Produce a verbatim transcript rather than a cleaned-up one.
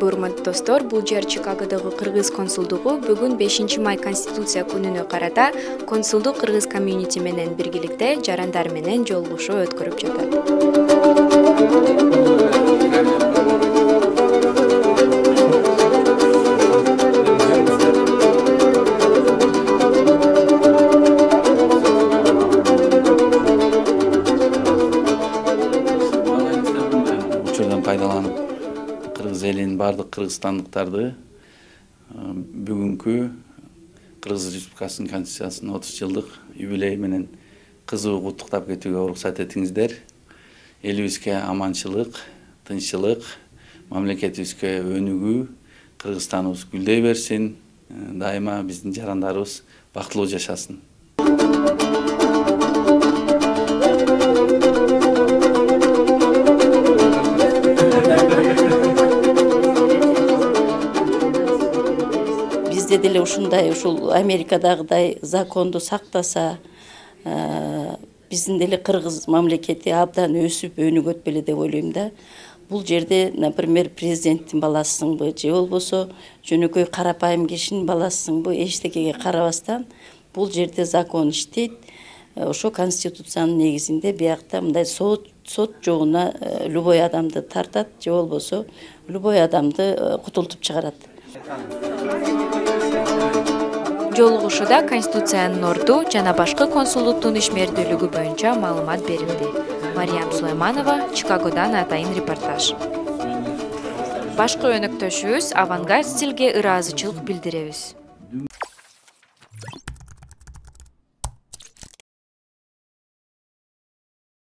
урматтуу достор, бул жер Чикагодогу кыргыз консулдугу бүгүн бешинчи май Конституция күнүнө карата консулдук кыргыз комьюнити менен биргеликте жарандар менен жолугушуу өткөрүп жатат. Учурдан пайдаланып, кыргыз элин бардык кыргызстандыктарды бүгүнкү Кыргыз Республикасынын Конституциясынын отуз жылдык юбилеи менен кызуу куттуктап кетүүгө уруксат этиңиздер. Элибизге аманчылык, тынччылык, мамлекетибизге өнүгүү, Кыргызстаныбыз гүлдөй берсин, дайыма биздин жарандарыбыз бактылуу жашасын. Бизде деле ушундай ушул Америкадагыдай законду сактаса, биздин деле кыргыз мамлекети абдан өсүп өнүгөт беле деп ойлойм да. Бул жерде, например, президенттин баласысыңбы же болбосо жөнөкөй карапайым кишинин баласысыңбы, эчтекеге карабастан бул жерде закон иштейт. Ошо конституциянын негизинде биякта мындай сот сот жогуна любой адамды тартат же болбосо любой адамды кутултуп чыгарат. Жолугушууда Конституциянын орду жана башкы консулдуктун ишмердүүлүгү боюнча маалымат берилди. Мариям Сулайманова, Чикагодан атайын репортаж. Башкы өнөктөшүбүз Авангард стилге ыраазычылык билдиребиз.